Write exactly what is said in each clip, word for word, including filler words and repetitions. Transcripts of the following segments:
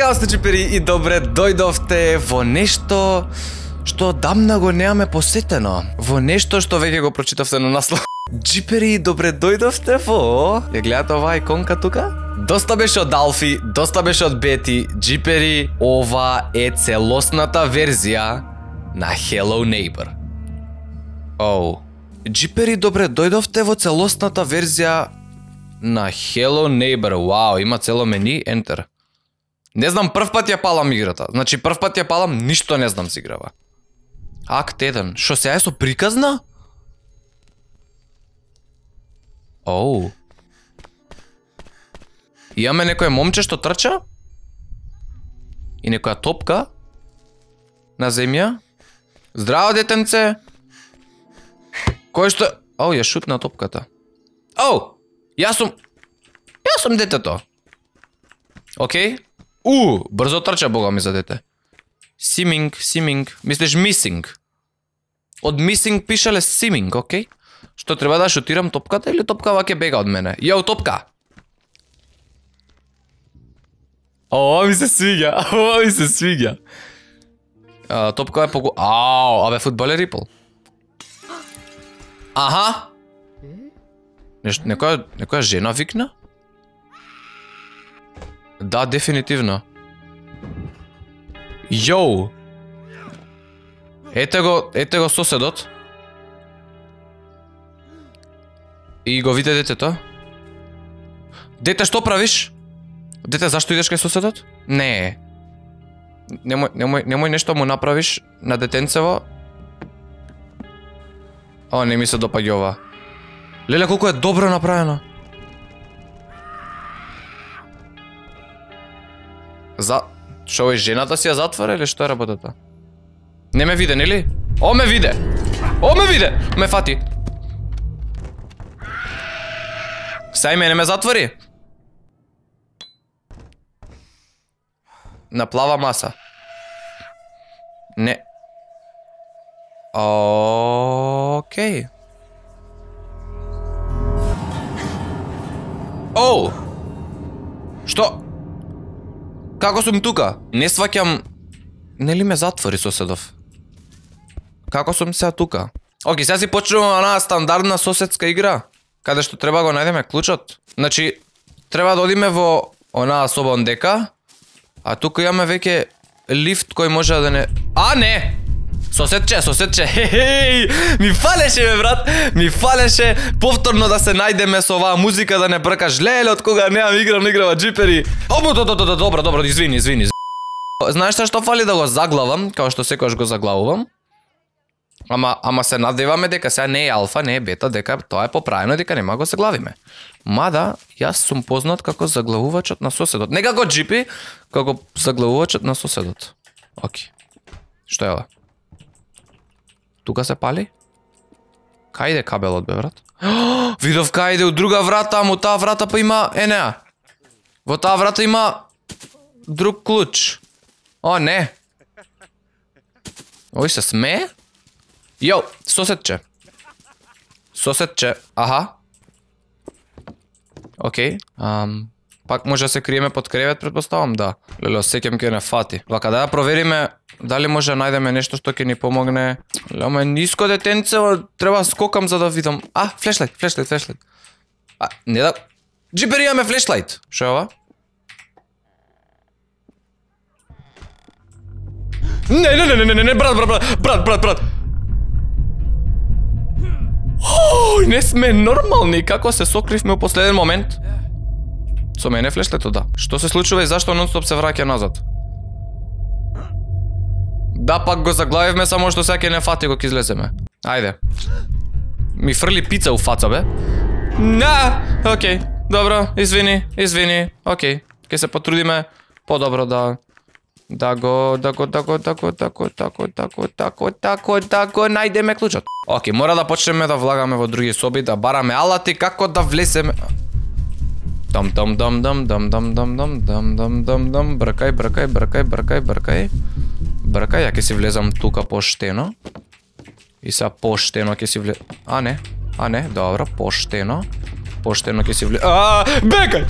Као сте, джипери, и добре дојдовте во нешто што дамна го немаме посетено. Во нешто што веќе го прочитавте на наслов. Джипери, добре дојдовте во... Ја гледате оваа иконка тука? Доста беше од Алфи, доста беше од Бети. Джипери, ова е целосната верзија на Hello Neighbor. Оу. Джипери, добре дојдовте во целосната верзија на Hello Neighbor. Вау, има цело мени, enter. Не знам, прв пат ја палам играта. Значи, прв пат ја палам, ништо не знам се играва. Акт еден. Шо сега е со приказна? Оу. Имаме некој момче што трча? И некоја топка? На земја? Здраво, детенце! Кој што... Оу, ја шутна топката. Оу! Јас сум... Јас сум детето. Океј? У, брзо трча, бога ми, за дете. Симинг, симинг. Мислиш мисинг? Од мисинг пишале симинг, окей? Што треба да шутирам топката или топка ваќе бега од мене? Јоу, топка! Ова ми се свиѓа, ова ми се свиѓа. А, топка е поку... Ау, абе, фудбал е рипл. Аха! Нешто, некоја, некоја жена викна? Да, дефинитивно. Јоу! Ете го, ете го соседот. И го виде детето. Дете, што правиш? Дете, зашто идеш кај соседот? Не. Немој, немој, немој нешто му направиш на детенцево. О, не ми се допаѓа ова. Леле, колку е добро направено. За... Шо е, жената си ја затвора или што е работата? Не ме виде, нели? О, ме виде! О, ме виде! Ме фати. Сај мене ме затвори. На плава маса. Не. Океј. Оу! Што? Како сум тука? Не сваќам... Нели ме затвори соседов? Како сум сега тука? Океј, сега си почнуваме онаа стандардна соседска игра, каде што треба го најдеме клучот. Значи, треба да одиме во онаа соба ондека, а тука имаме веќе лифт кој може да не... А, не! Соседче, соседче, хе-хеј! Ми фалеше, бе, брат! Ми фалеше повторно да се најдеме со оваа музика, да не бркаш. Леле, од кога неам играм, играва джипери. О, до, до, до, добро, добро, извини, извини. Знаеш што што фали да го заглавам, као што секојаш го заглавувам? Ама, ама се надеваме дека сега не е алфа, не е бета, дека тоа е поправено, дека нема го заглавиме. Мада, јас сум познат како заглавувачот на соседот. Не како джипи, како заглавувачот на соседот. Оки. Што е ова? Тука се пали? Кај иде кабелот, бе, брат? Видов кај иде у друга врата, ама таа врата па има... Е, неа. Во таа врата има... друг клуч. О, не. Ој се смее? Јоу, соседче. Соседче, аха. Океј. Ам, пак може да се криеме под кревет, предпоставам, да. Леле, осеќам ке не фати. Вака да ја провериме дали може да најдеме нешто што ќе ни помогне. Леле, ама ниско детенце, треба скокам за да видам. А, флешлайт, флешлайт, флешлайт. А, не да... Джипери, имаме флешлайт. Шо е ова? Не, не, не, не, не, не, брат, брат, брат, брат, брат, брат. Ој, не сме нормални, како се сокривме у последен момент. Со мене флешлето, да. Што се случува и зашто нон-стоп се враќа назад? Да, пак го заглавивме, само што сега ќе не фати кога излеземе. Ајде. Ми фрли пица у фаца, бе. На, окей, добро, извини, извини, окей. Ке се потрудиме подобро да... Да го, да го, да го, да го, да го, да го, да го, да го, да го, да го најдеме клучот. Океј, мора да почнеме да влагаме во други соби, да бараме алати како да влеземе. Дам дам дам дам дам дам дам дам дам дам дам дам бркај, бркај, бркај, бркај, бркај. Бркај, ја ќе си влезам тука поштено. И сега поштено ќе си влез... А не, а не, добро, поштено. Поштено ќе си влез... А, бекај!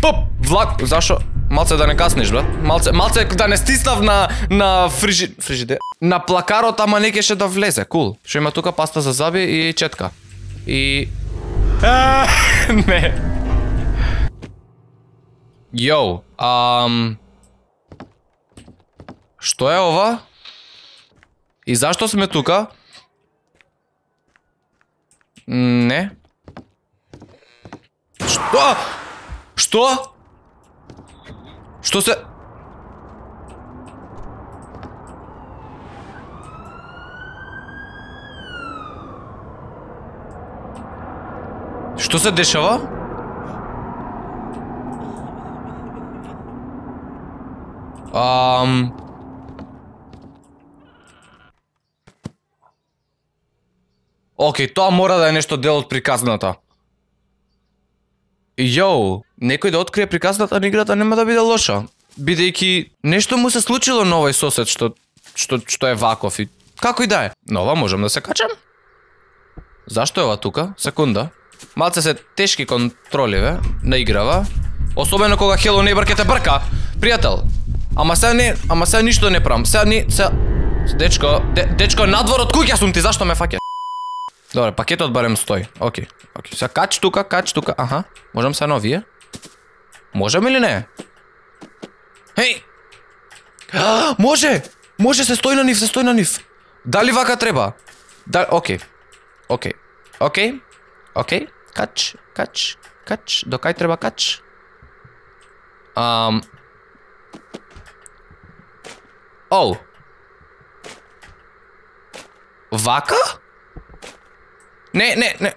Поп, влак, зашо? Малце да не касниш, брат. Малце, малце да не стиснав на на фрижи фрижиде. На плакарот, ама не кеше да влезе. Кул. Што има тука паста за заби и четка. И а, не. Йоу, ам што е ова? И зашто сме тука? Не. Што? Што? Што се... Што се дешава? Ам... Океј, тоа мора да е нешто дел од приказната. Јоу, некој да открие приказната на играта нема да биде лоша. Бидејќи нешто му се случило на овој сосед што што што е ваков и како и да е. Но ова можам да се качам? Зашто е ова тука? Секунда. Малце се тешки контроли, ве, на играва. Особено кога Hello Neighbor ке те брка, пријател. Ама сега не, ама сега ништо не правам. Сега не, сега дечко, де, дечко надвор од куќа сум ти, зашто ме фаќаш? Добре, пакетот барем стои. Океј, океј. Сега кач тука, кач тука. Аха. Можам се новие? Можам или не? Хеј! А, може! Може, се стои на нив, се стои на нив. Дали вака треба? Да, океј. Океј. Океј. Океј. Кач, кач, кач. До кај треба кач? Ам... Оу. Вака? Не, не, не.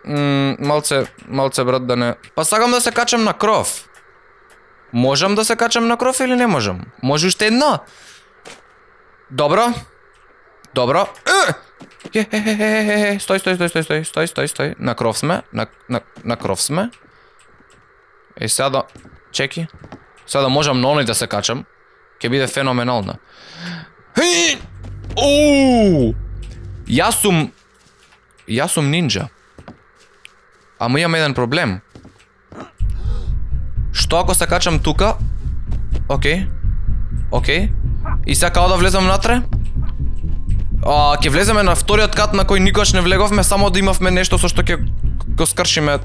Мм, малце, малце брат да не. Па сакам да се качам на кров. Можам да се качам на кров или не можам? Може уште едно? Добро. Добро. Е, е, е, е, е, стој, стој, стој, стој, стој, стој, стој, стој. На кров сме, на, на, на кров сме. Е, сега да... Чеки. Сега да можам на оној да се качам. Ке биде феноменално. Хеј! Оу! Јас сум... Јас сум нинджа. Ама имам еден проблем. Што ако се качам тука? Океј. Океј. И сега као да влезам внатре? А, ќе влеземе на вториот кат на кој никогаш не влеговме, само да имавме нешто со што ќе го скршиме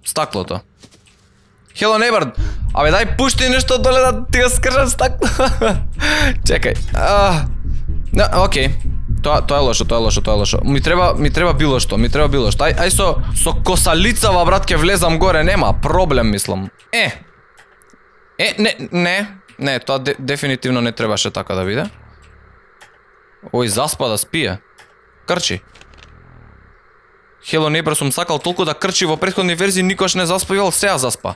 стаклото. Hello Neighbor, абе дај пушти нешто доле да ти го скршам стакло. Чекај. А, не, океј. Тоа тоа е лошо, тоа е лошо, тоа е лошо. Ми треба ми треба било што, ми треба било што. Ај ај со со косалицава брат ќе влезам горе, нема проблем мислам. Е. Е, не, не, не, тоа де, дефинитивно не требаше така да биде. Ој, заспа да спие. Крчи. Hello Neighbor сум сакал толку да крчи во претходни верзии, никош не заспивал, сега заспа.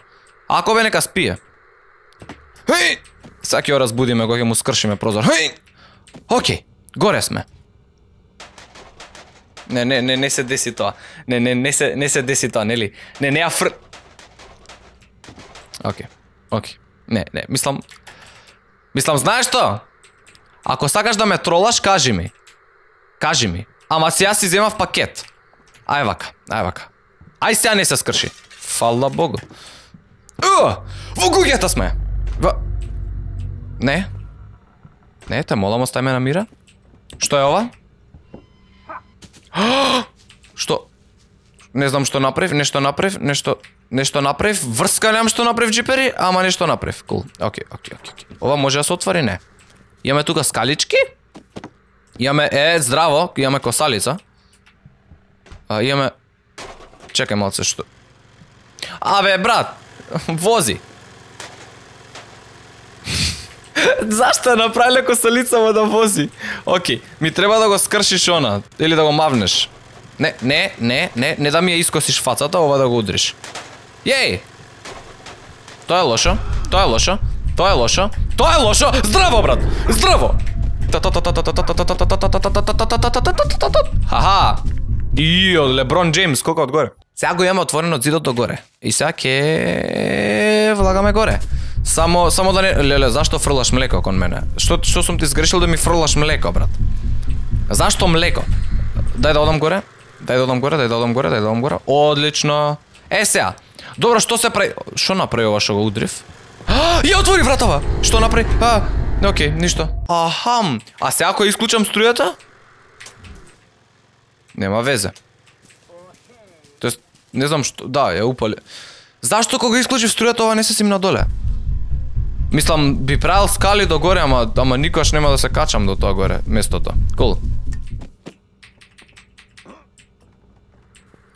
Ако бе нека спие. Хеј! Сега ќе го разбудиме, кога ќе му скршиме прозор. Хеј! Океј, горе сме. Не, не, не, не се деси тоа. Не, не, не се, не се деси тоа, нели? Не, не ја фр... Океј, океј. Не, не, мислам... Мислам, знаеш што? Ако сакаш да ме тролаш, кажи ми. Кажи ми. Ама сега си земав пакет. Ај вака, ај вака. Ај сега не се скрши. Фала Богу. Уа! Во куќата сме! Во... Не. Не, те молам, остај ме на мира. Што е ова? Што? Не знам што направив, нешто направив, нешто... Нешто направив, врска немам што направив джипери, ама нешто направив. Кул. Океј, океј, океј. Ова може да се отвори, не. Имаме тука скалички. Имаме, е, здраво, имаме косалица. А, имаме... Чекај малце, што... Абе, брат, вози. Зашто направиле косалицава да вози? Океј, ми треба да го скршиш она, или да го мавнеш. Не, не, не, не, не да ми ја искосиш фацата, ова да го удриш. Јеј! Тоа е лошо, тоа е лошо, тоа е лошо, тоа е лошо! Здраво, брат! Здраво! Хаха! Ио, Леброн Джеймс, колко одгоре. Сега го имаме отворено од зидот до горе. И сега ке влагаме горе. Само само да не, леле, зашто фрлаш млеко кон мене? Што што сум ти сгрешил да ми фрлаш млеко, брат? Зашто млеко? Дај да одам горе. Дај да одам горе, дај да одам горе, дај да одам горе. Одлично. Е сега. Добро, што се прави? Што направи ова што го удрив? Ја отвори вратава! Што направи? А, окей, ништо. Ахам. А сега ако исклучам струјата? Нема везе. Тоест, не знам што, да, ја упали. Зашто кога исклучив струјата ова не се симна доле? Мислам, би правил скали до горе, ама, ама никош нема да се качам до тоа горе, местото. Кул.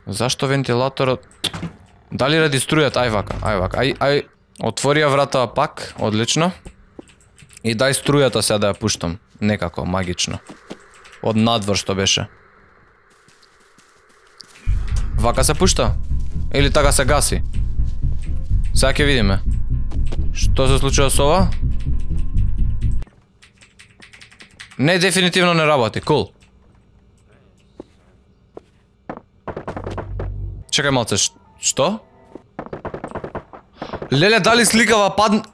Зашто вентилаторот? Дали ради струјата? Ај вака, ај вака, ај, ај. Отвори ја вратава пак, одлично. И дај струјата сега да ја пуштам. Некако, магично. Од надвор што беше. Вака се пушта? Или така се гаси? Сега ќе видиме. Што се случува со ова? Не, дефинитивно не работи, кул. Чекај малце, што? Леле, дали сликава падн...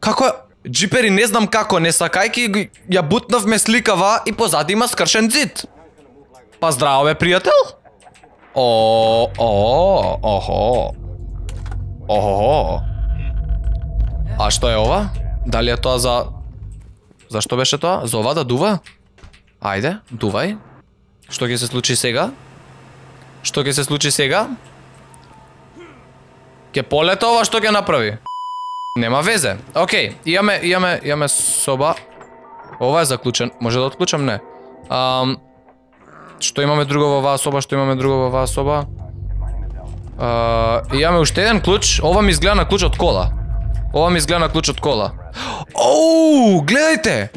Како е? Джипери, не знам како, не сакајки ја бутнавме сликава и позади има скршен зид. Па здраво бе, пријател? О, о, охо. Охо. А што е ова? Дали е тоа за... Зашто беше тоа? За ова да дува? Ајде, дувај. Што ќе се случи сега? Што ќе се случи сега? Ке полета ова, што ќе направи? Нема везе. Океј, имаме, имаме, имаме соба. Ова е заклучен. Може да отклучам? Не. Ам... Што имаме друго во оваа соба? Што имаме друго во оваа соба? А, имаме уште еден клуч. Ова ми изгледа на клуч од кола. Ова ми изгледа на клуч од кола. Оу, гледајте!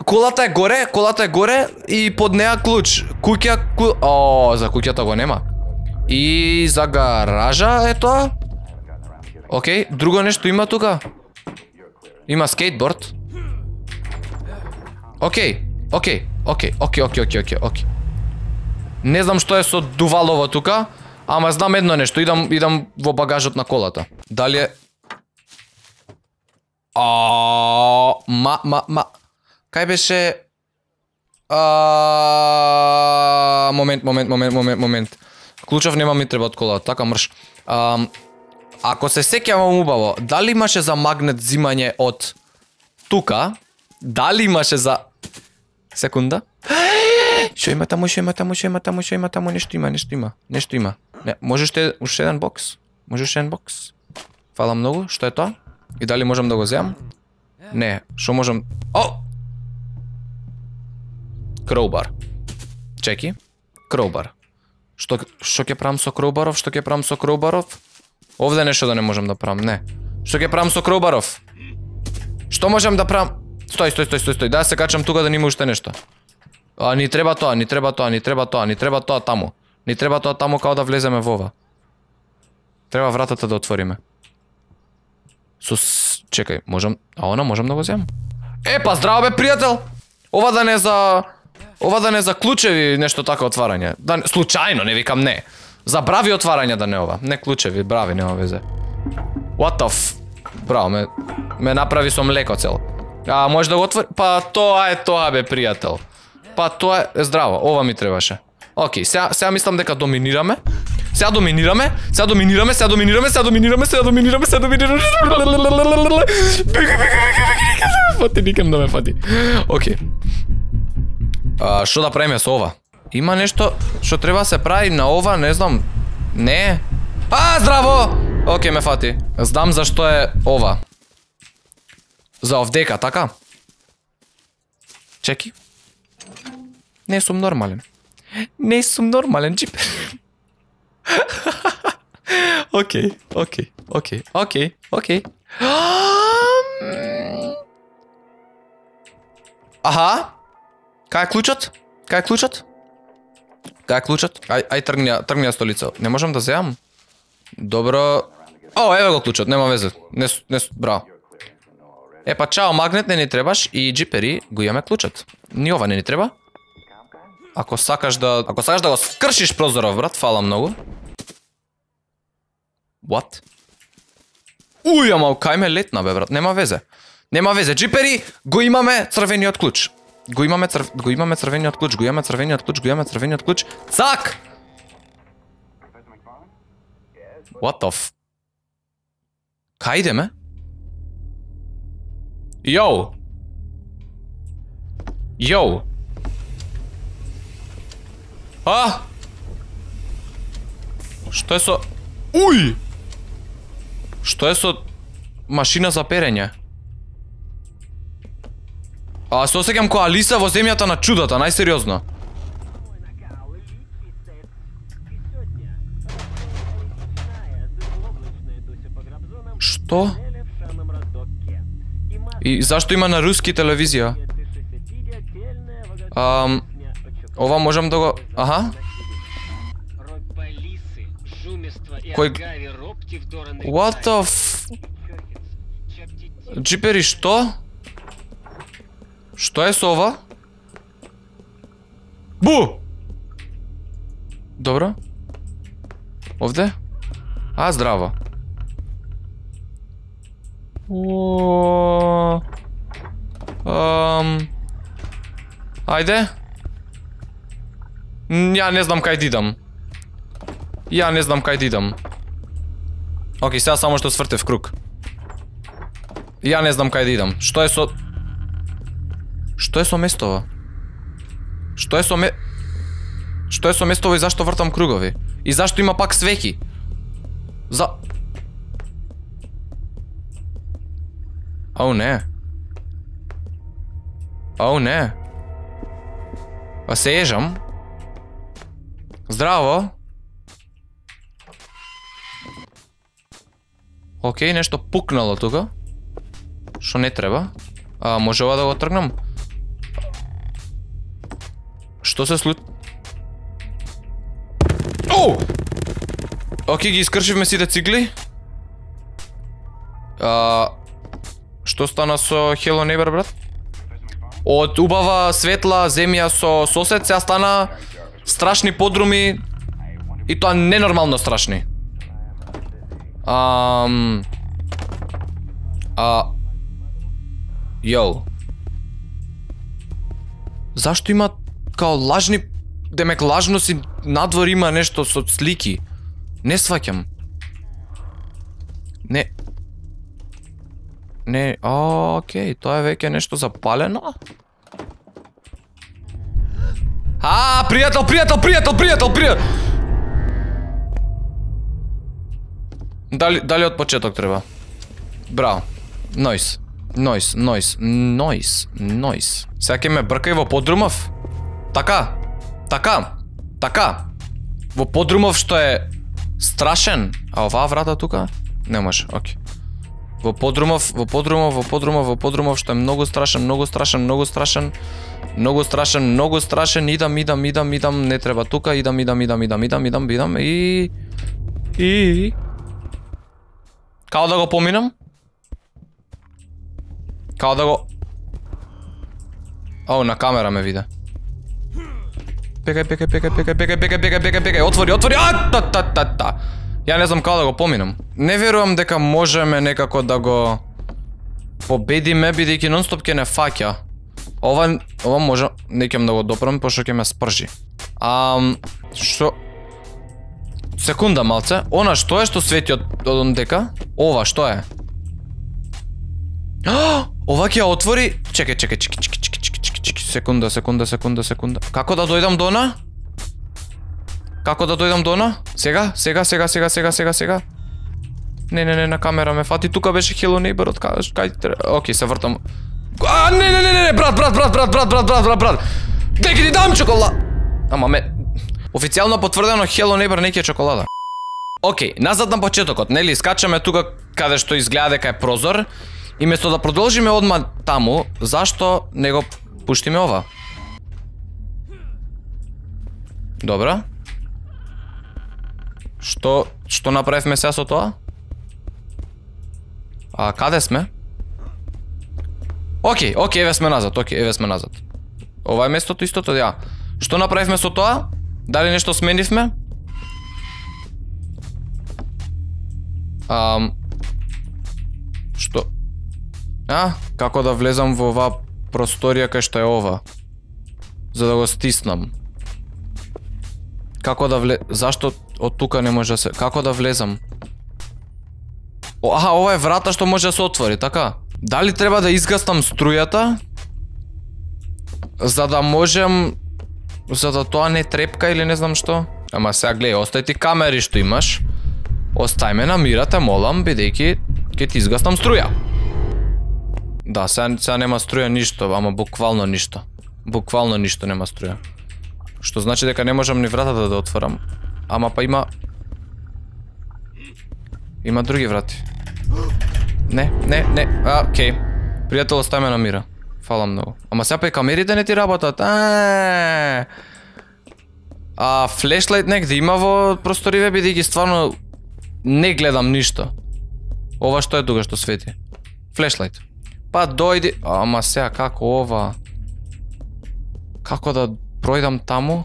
Колата е горе, колата е горе и под неа клуч. Куќа, ку... О, за куќата го нема. И за гаража е тоа. Океј, друго нешто има тука. Има скейтборд. Океј, океј, океј, океј, океј, океј, океј, океј. Не знам што е со дувалово тука, ама знам едно нешто, идам, идам во багажот на колата. Дали е... А, ма, ма, ма... Кај беше... А, момент, момент, момент, момент, момент. Клучав нема ми треба од колата, така мрш. А, ако се сеќавам убаво, дали имаше за магнет зимање од тука? Дали имаше за... Секунда. Шо има таму, шо има таму, шо има таму, шо има таму, нешто има, нешто има, нешто има. Не, може уште, уште еден бокс? Може уште еден бокс? Фала многу, што е тоа? И дали можам да го земам? Не, шо можам... О! Кроубар. Чеки. Кроубар. Што што ќе правам со кроубаров? Што ќе правам со кроубаров? Овде нешто да не можам да правам, не. Што ќе правам со кроубаров? Што можам да правам? Стој, стој, стој, стој, стој. Да се качам тука да нема уште нешто. А ни треба тоа, ни треба тоа, ни треба тоа, ни треба тоа таму. Ни треба тоа таму као да влеземе во ова. Треба вратата да отвориме. Со чекај, можам, а она можам да го земам. Е, па здраво бе, пријател. Ова да не за ова да не за клучеви нешто така отварање. Да случајно, не викам не. За брави отварања да не ова. Не клучеви, брави, нема везе. What the f... Браво, ме ме направи со млеко цел. А може да го отвори? Па тоа е тоа бе, пријател. Па тоа е здраво, ова ми требаше. Океј, сега сега мислам дека доминираме. Сега доминираме, сега доминираме, сега доминираме, сега доминираме, сега доминираме, сега доминираме. Фати, никам да ме фати. Океј. А што да правиме со ова? Има нешто што треба се прави на ова, не знам. Не. А, здраво! Океј, ме фати. Знам зашто е ова. За овдека, така? Чеки. Не сум нормален. Не сум нормален, джипер. Океј, океј, океј, океј, океј. Аха. Кај е клучот? Кај е клучот? Кај е клучот? Ај, ај тргни ја, тргни ја столица. Не можам да земам? Добро. О, еве го клучот, нема везе. Не, не, браво. Е па чао, магнет не ни требаш и джипери го имаме клучот. Ни ова не ни треба. Ако сакаш да, ако сакаш да го скршиш прозоров, брат, фала многу. What? Уј, ама кај ме летна бе, брат, нема везе. Нема везе, джипери, го имаме црвениот клуч. Го имаме црв... го имаме црвениот клуч, го имаме црвениот клуч, го имаме црвениот клуч. Цак! What the f... Кај идеме? Йоу! Йоу! А? Што е со... Уј! Што е со... машина за перење? А се осеќам која Алиса во земјата на чудата, најсериозно. Што? И зашто има на руски телевизија? Ам... Ова можам да го... Аха? Кој... What the f... Джипери, што? Што е со ова? Бу! Добро. Овде? А, здраво. О... Ам... Ајде. Ја не знам кај да идам. Ја не знам кај да идам. Океј, сега само што свртев круг. Ја не знам кај да идам. Што е со... Што е со местова? Што е со ме... Што е со местова и зашто вртам кругови? И зашто има пак свеќи? За... Ау, не. Ау, не. А се ежам. Здраво. Океј, нешто пукнало тука. Шо не треба. А, може ова да го тргнам? Што се слу... Оу! Океј, ги искршивме сите цикли. А... Што стана со Hello Neighbor, брат? Од убава светла земја со сосед, сега стана страшни подруми и тоа ненормално страшни. Ам... А... Йоу. Зашто има као лажни... Демек лажно си надвор има нешто со слики. Не сваќам. Не... Не, окей, тоа е веќе нешто запалено. А, пријател, пријател, пријател, пријател, пријател. Дали, дали од почеток треба? Браво. Нойс. Нойс, нойс, нойс, нойс. Сега ќе ме бркај во подрумов? Така, така, така. Во подрумов што е страшен. А оваа врата тука? Не може, окей. Во подрумов, во подрумов, во подрумов, во подрумов што е многу страшен, многу страшен, многу страшен. Многу страшен, многу страшен. Идам, идам, идам, идам, не треба тука, идам, идам, идам, идам, идам, идам, идам и... И... Као да го поминам? Као да го... Ау, на камера ме виде. Пекај, пекај, пекај, пекај, пекај, пекај, пекај, пекај, пекај, отвори, отвори, а, та, та, та, та. Ја не знам као да го поминам. Не верувам дека можеме некако да го победиме, бидејќи нонстоп ќе не фаќа. Ова, ова може, не ќем да го допрам, пошто ќе ме спржи. Ам, што... Секунда малце, она што е што свети од, од дека? Ова што е? Ова ќе ја отвори... Чекај, чекај, чекај, чекај, чекај, чекај, чекај, секунда, секунда, секунда, секунда. Како да дојдам до она? Како да дојдам до она? Сега, сега, сега, сега, сега, сега, сега. Не, не, не, на камера ме фати. Тука беше Hello Neighbor од кај, кај... Океј, се вртам. А, не, не, не, не, брат, брат, брат, брат, брат, брат, брат, брат, брат. Деки ти дам чоколада. Ама ме... Официјално потврдено Hello Neighbor не ќе е чоколада. Океј, назад на почетокот, нели, скачаме тука каде што изгледа дека е прозор. И место да продолжиме одма таму, зашто не го пуштиме ова? Добра. Што, што направивме сега со тоа? А каде сме? Океј, океј, еве сме назад, океј, еве сме назад. Ова е местото истото, ја. Што направивме со тоа? Дали нешто сменивме? Ам... Што? А, како да влезам во оваа просторија кај што е ова? За да го стиснам. Како да вле... Зашто од тука не може да се... Како да влезам? Аха, ова е врата што може да се отвори, така? Дали треба да изгастам струјата? За да можем... За да тоа не трепка или не знам што? Ама сега гледај, остај ти камери што имаш. Остај ме на мира, те молам, бидејќи ќе ти изгастам струја. Да, сега, сега нема струја ништо, ама буквално ништо. Буквално ништо нема струја. Што значи дека не можам ни вратата да отворам. Ама па има... Има други врати. Не, не, не, а, окей. Пријател, остај ме на мира. Фала многу. Ама сега па и камерите не ти работат. А, а флешлайт негде има во просториве, бидејќи стварно не гледам ништо. Ова што е тука што свети? Флешлайт. Па дојди... Ама сега како ова? Како да пројдам таму?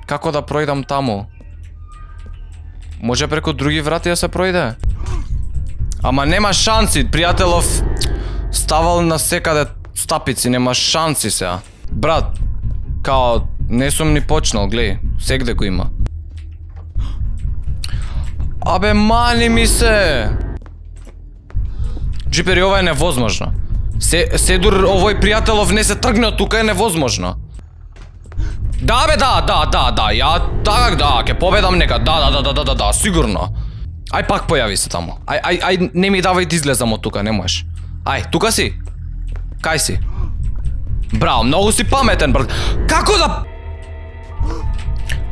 Како да пројдам таму? Може преку други врати да се пројде? Ама нема шанси, пријателов. Ставал на секаде стапици, нема шанси сега. Брат, као, не сум ни почнал, глеј, сегде го има. Абе, мани ми се! Джипери, ова е невозможно. Се, седур овој пријателов не се тргне од тука, е невозможно. Да бе, да, да, да, да, ја така да, ќе победам нека, да, да, да, да, да, да, да, сигурно. Ај пак појави се таму. Ај, ај, ај, не ми давај да излезам од тука, не можеш. Ај, тука си? Кај си? Браво, многу си паметен, брат. Како да...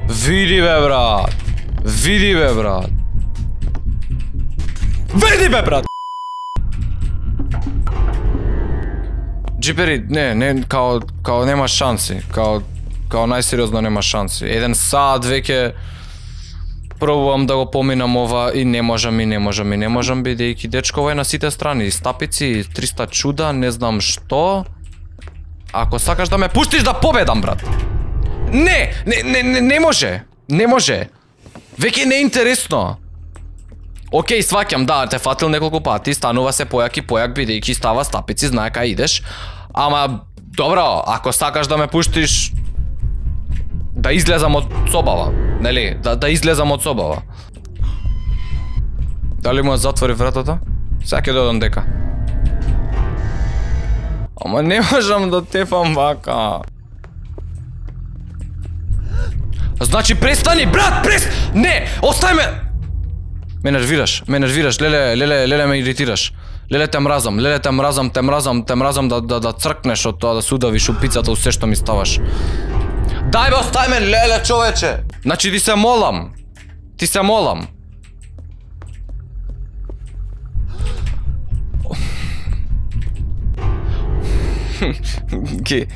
Види бе, брат. Види бе, брат. Види бе, брат. Джипери, не, не, као, као нема шанси, као, као најсериозно нема шанси. Еден саат веќе пробувам да го поминам ова и не можам и не можам и не можам, бидејќи дечко ова е на сите страни, стапици, триста чуда, не знам што. Ако сакаш да ме пуштиш да победам, брат. Не, не, не, не, не може, не може. Веќе не е интересно. Океј, сваќам, да, те фатил неколку пати, станува се појак и појак, бидејќи става стапици, знае кај идеш. Ама, добро, ако сакаш да ме пуштиш да излезам од собава, нели? Да, да излезам од собава. Дали му затвори вратата? Сега ќе додам дека. Ама не можам да тефам вака. Значи престани, брат, прест... Не, остај ме... Ме нервираш, ме нервираш, леле, леле, леле ме иритираш. Леле те мразам, леле те мразам, те мразам, те мразам да, да, да цркнеш од тоа, да се удавиш упицата у се што ми ставаш. Дај бе, остај ме, леле, човече! Значи ти се молам. Ти се молам. Ке,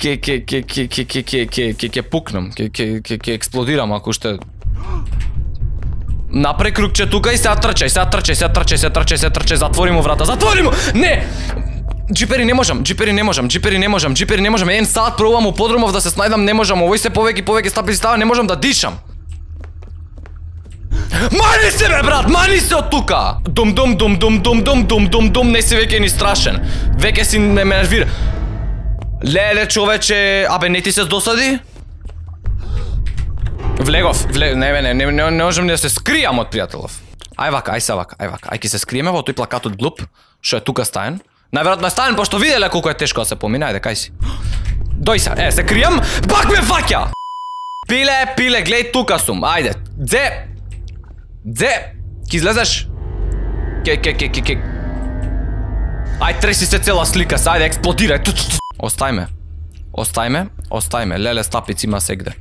ке, ке, ке, ке, ке, ке, ке, ке, ке, ке пукнам, ке, ке, ке, ке експлодирам ако уште... Напре кругче тука и сега трчај, сега трчај, сега трчај, сега трчај, сега трчај, затвори му врата, затвори му! Не! Джипери не можам, джипери не можам, джипери не можам, джипери не можам, еден саат пробувам у подромов да се снајдам, не можам, овој се повеќе повеќе стапици става, не можам да дишам. Мани се бе, брат, мани се од тука! Дум дум дум дум дум дум дум дум дум, не си веќе ни страшен. Веќе си не ме нервира. Леле, човече, абе не ти се досади? Влегов, вле... не, не, не, не, не можам да се скријам од пријателов. Ај вака, ај се вака, ај вака, ај ке се скриеме во тој плакатот глуп, што е тука стаен. Најверојатно е стаен, пошто виделе колку е тешко да се помине, ајде, кај си. Дој се, е, се кријам, пак ме фаќа! Пиле, пиле, глеј, тука сум, ајде, дзе, дзе, ки излезеш? Ке, ке, ке, ке, ке. Ај, треси се цела слика, ајде, експлодирај. Остај ме, остај ме, остај ме, леле стапици има сегде.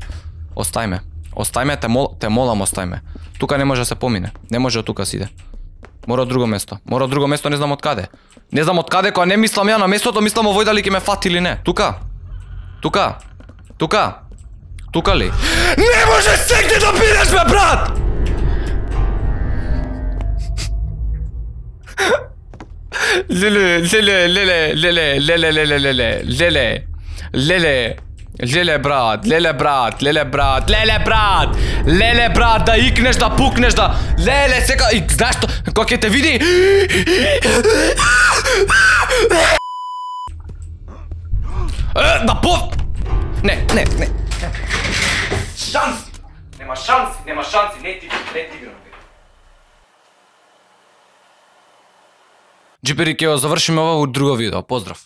Остај ме. Остај ме, те, мол, те молам, остај ме. Тука не може да се помине. Не може од тука си иде. Мора од друго место. Мора од друго место, не знам од каде. Не знам од каде, кога не мислам ја на местото, мислам овој дали ќе ме фати или не. Тука. Тука. Тука. Тука ли? Не може сегде да бидеш, бе, брат! Леле, леле, леле, леле, леле, леле, леле, леле, леле. Леле брат, леле брат, леле брат, леле брат, леле брат, да икнеш, да пукнеш, да... Леле, сека... И знаеш што? Кога ќе те види... Да по... Не, не, не. Шанси! Нема шанси, нема шанси, не ти, не ти играм. Джипери, ќе го завршиме ова во друго видео. Поздрав.